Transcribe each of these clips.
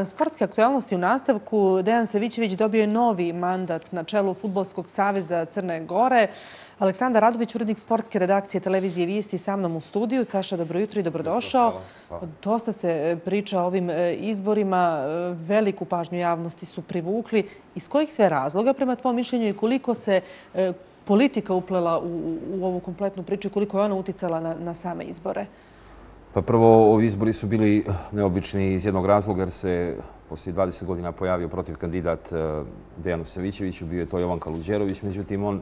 Sportske aktualnosti u nastavku. Dejan Savićević dobio je novi mandat na čelu Fudbalskog saveza Crne Gore. Aleksandar Radović, urednik sportske redakcije televizije Vijesti, sa mnom u studiju. Saša, dobro jutro i dobrodošao. Dosta se priča o ovim izborima. Veliku pažnju javnosti su privukli. Iz kojih sve razloga, prema tvom mišljenju, i koliko se politika uplela u ovu kompletnu priču i koliko je ona uticala na same izbore? Pa prvo, ovi izbori su bili neobični iz jednog razloga jer se poslije 20 godina pojavio protiv kandidat Dejanu Savićeviću, bio je to Jovan Kaluđerović, međutim on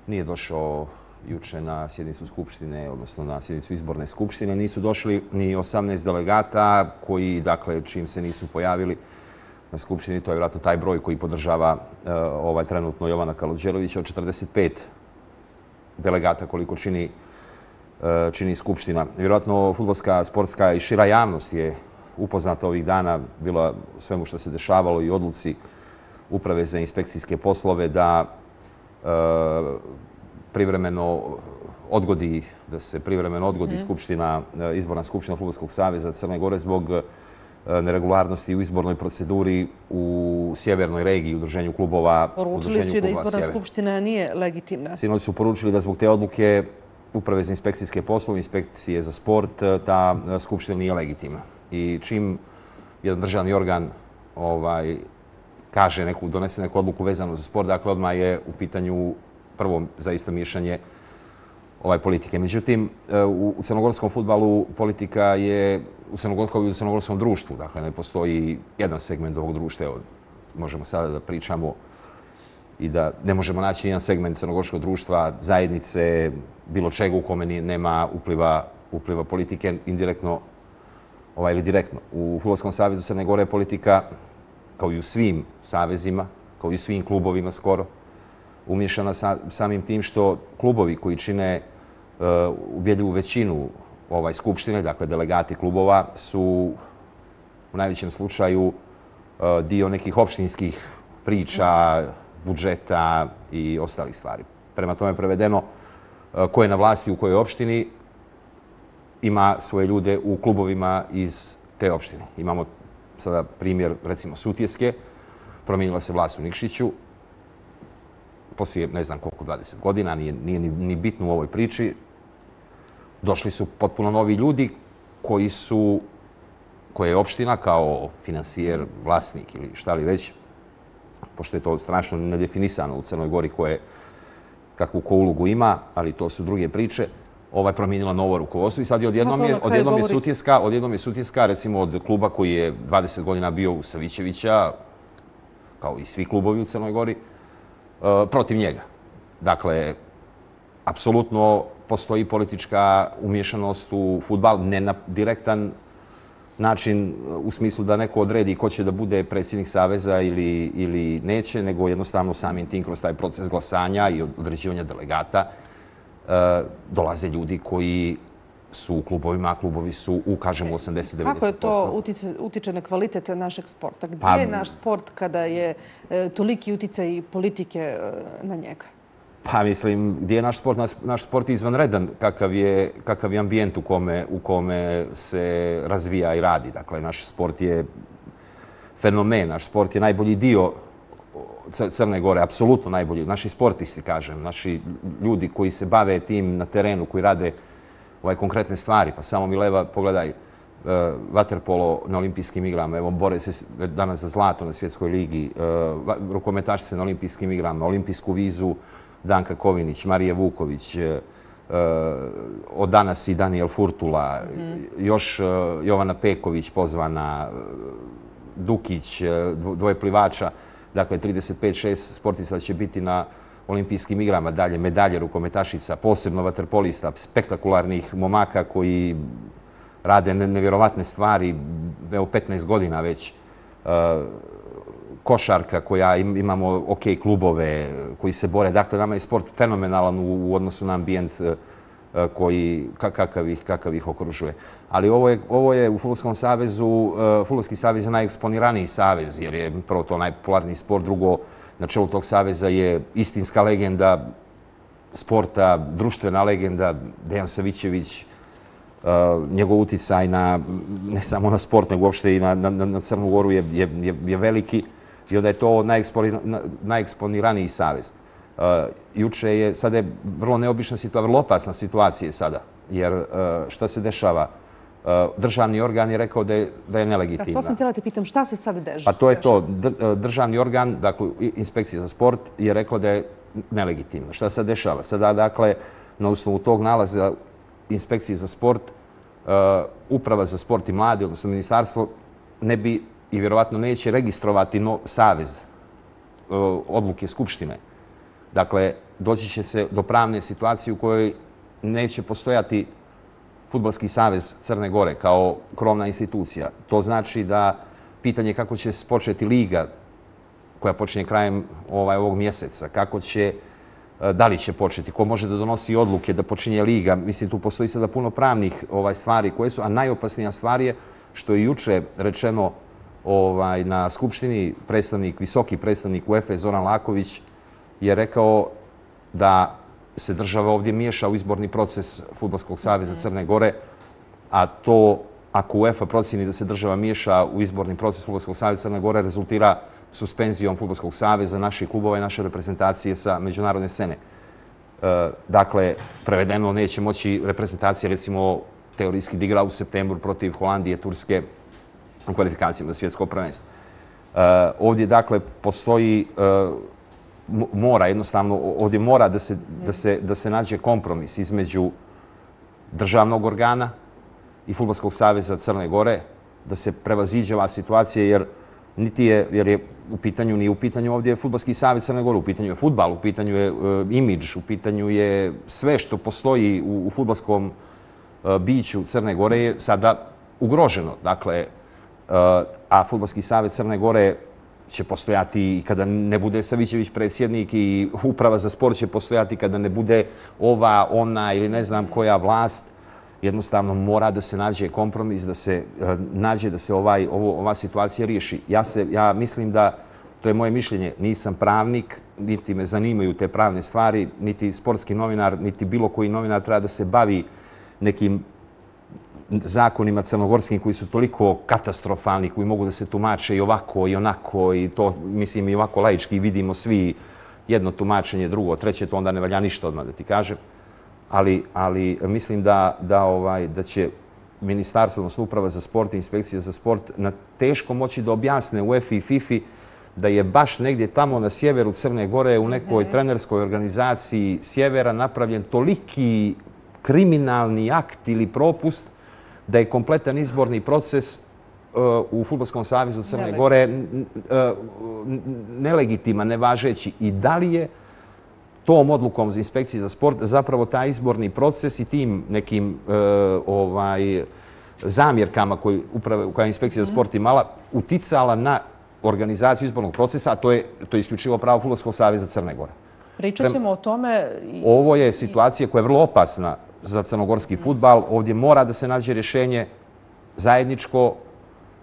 nije došao juče na sjednicu Skupštine, odnosno na sjednicu izborne Skupštine. Nisu došli ni 18 delegata koji, dakle, čim se nisu pojavili na Skupštini, to je vjerojatno taj broj koji podržava trenutno Jovana Kaluđerovića, od 45 delegata koliko čini Skupština. Vjerojatno fudbalska, sportska i šira javnost je upoznata ovih dana bila svemu što se dešavalo i odluci Uprave za inspekcijske poslove da se privremeno odgodi izborna skupština Fudbalskog saveza Crne Gore zbog neregularnosti u izbornoj proceduri u sjevernoj regiji, udruženju klubova. Poručili su da izborna skupština nije legitimna. Sinoć su poručili da zbog te odluke Uprave za inspekcijske poslove, inspekcije za sport, ta skupština nije legitimna. I čim jedan državni organ donese neku odluku vezanu za sport, dakle odmah je u pitanju prvo zaista miješanje politike. Međutim, u crnogorskom fudbalu politika je u crnogorskom društvu. Dakle, ne postoji jedan segment ovog društva. Možemo sada da pričamo i da ne možemo naći jedan segment crnogorskog društva, zajednice, bilo čega u kome nema upliva politike, indirektno ili direktno. U Fudbalskom savezu Crne Gore je politika, kao i u svim savezima, kao i u svim klubovima skoro, umješana samim tim što klubovi koji čine ubjedljivu većinu skupštine, dakle delegati klubova, su u najvećem slučaju dio nekih opštinskih priča, budžeta i ostalih stvari. Prema tome prevedeno, ko je na vlasti u kojoj opštini ima svoje ljude u klubovima iz te opštine. Imamo sada primjer, recimo, Sutjeske. Promijenila se vlast u Nikšiću. Poslije, ne znam koliko, 20 godina, nije ni bitno u ovoj priči. Došli su potpuno novi ljudi koje je opština kao finansijer, vlasnik ili šta li već, pošto je to strašno nedefinisano u Crnoj Gori kakvu ko ulogu ima, ali to su druge priče, promijenila novo rukovodstvo i sad je odjednom je Sutjeska, recimo od kluba koji je 20 godina bio u Savićevića, kao i svi klubovi u Crnoj Gori, protiv njega. Dakle, apsolutno postoji politička umješanost u fudbal, ne na direktan način u smislu da neko odredi ko će da bude predsjednik saveza ili neće, nego jednostavno samim tim kroz taj proces glasanja i određivanja delegata dolaze ljudi koji su u klubovima, a klubovi su u, kažemo, 80-90%. Kako je to utiče na kvalitet našeg sporta? Gdje je naš sport kada je toliki uticaj politike na njega? Pa mislim, gdje je naš sport? Naš sport je izvanredan kakav je ambijent u kome se razvija i radi. Dakle, naš sport je fenomen, naš sport je najbolji dio Crne Gore, apsolutno najbolji. Naši sportisti, kažem, naši ljudi koji se bave tim na terenu, koji rade konkretne stvari. Pa samo Mileva, pogledaj, vaterpolo na olimpijskim igrama, evo, bore se danas za zlato na svjetskoj ligi, rukometaši se na olimpijskim igrama, olimpijsku vizu Danka Kovinić, Marija Vuković, od danas i Daniel Furtula, još Jovana Peković pozvana, Dukić, dvoje plivača, dakle 35-6 sportista će biti na olimpijskim igrama, dalje medalje rukometašica, posebno vaterpolista, spektakularnih momaka koji rade nevjerovatne stvari, evo 15 godina već, košarka koja imamo OK klubove koji se bore. Dakle, nama je sport fenomenalan u odnosu na ambijent kakav ih okružuje. Ali ovo je u Fudbalskom savezu, Fudbalski savez je najeksponiraniji savez jer je prvo to najpopularniji sport, drugo na čelu tog saveza je istinska legenda sporta, društvena legenda Dejan Savićević, njegov uticaj ne samo na sport, nego uopšte i na Crnu Goru je veliki i onda je to najeksponiraniji savez. Juče je, sada je vrlo neobična situacija, vrlo opasna situacija sada, jer šta se dešava? Državni organ je rekao da je nelegitimna. To sam htjela te pitam, šta se sad dešava? Pa to je to. Državni organ, dakle, inspekcija za sport, je rekao da je nelegitimna. Šta se dešava? Sada, dakle, na osnovu tog nalaza inspekcije za sport, Uprava za sport i mladi, odnosno ministarstvo, ne bi i vjerovatno neće registrovati savez odluke Skupštine. Dakle, doći će se do pravne situacije u kojoj neće postojati Fudbalski savez Crne Gore kao krovna institucija. To znači da pitanje kako će početi liga koja počinje krajem ovog mjeseca, da li će početi, ko može da donosi odluke da počinje liga. Mislim, tu postoji sada puno pravnih stvari koje su, a najopasnija stvar je što je juče rečeno na Skupštini visoki predstavnik UEFA Zoran Laković je rekao da se država ovdje miješa u izborni proces Fudbalskog saveza Crne Gore, a to, ako UEFA procjeni da se država miješa u izborni proces Fudbalskog saveza Crne Gore, rezultira suspenzijom Fudbalskog saveza, naših klubova i naše reprezentacije sa međunarodne scene. Dakle, prevedeno, neće moći reprezentacija, recimo, teorijski da igra u septembru protiv Holandije, Turske u kvalifikacijama za svjetsko prvenstvo. Ovdje, dakle, postoji ovdje mora da se nađe kompromis između državnog organa i Fudbalskog saveza Crne Gore, da se prevaziđe ova situacija, jer je nije u pitanju ovdje Fudbalski savez Crne Gore, u pitanju je fudbal, u pitanju je imidž, u pitanju je sve što postoji u fudbalskom biću Crne Gore je sada ugroženo. Dakle, a Fudbalski savez Crne Gore će postojati i kada ne bude Savićević predsjednik i Uprava za sport će postojati kada ne bude ona ili ne znam koja vlast. Jednostavno mora da se nađe kompromis, da se nađe da se ova situacija riješi. Ja mislim da, to je moje mišljenje, nisam pravnik, niti me zanimaju te pravne stvari, niti sportski novinar, niti bilo koji novinar treba da se bavi nekim zakonima crnogorskim koji su toliko katastrofalni, koji mogu da se tumače i ovako i onako i to, mislim, i ovako laički vidimo svi jedno tumačenje, drugo, treće, to onda ne valja ništa odmah da ti kažem. Ali mislim da će ministarstvo, odnosno Uprava za sport i inspekcija za sport na teško moći da objasne UEFA i FIFA da je baš negdje tamo na sjeveru Crne Gore u nekoj trenerskoj organizaciji sjevera napravljen toliki kriminalni akt ili propust da je kompletan izborni proces u Fudbalskom savezu Crne Gore nelegitiman, nevažeći. I da li je tom odlukom za inspekciju za sport zapravo taj izborni proces i tim nekim zamjerkama koje je inspekcija za sport imala uticala na organizaciju izbornog procesa, a to je isključivo pravo Fudbalskog saveza Crne Gore. Pričat ćemo o tome. Ovo je situacija koja je vrlo opasna za crnogorski fudbal. Ovdje mora da se nađe rješenje zajedničko.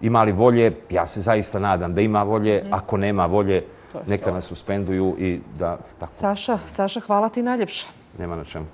Ima li volje? Ja se zaista nadam da ima volje. Ako nema volje, neka nas suspenduju i da tako. Saša, hvala ti najljepše. Nema na čemu.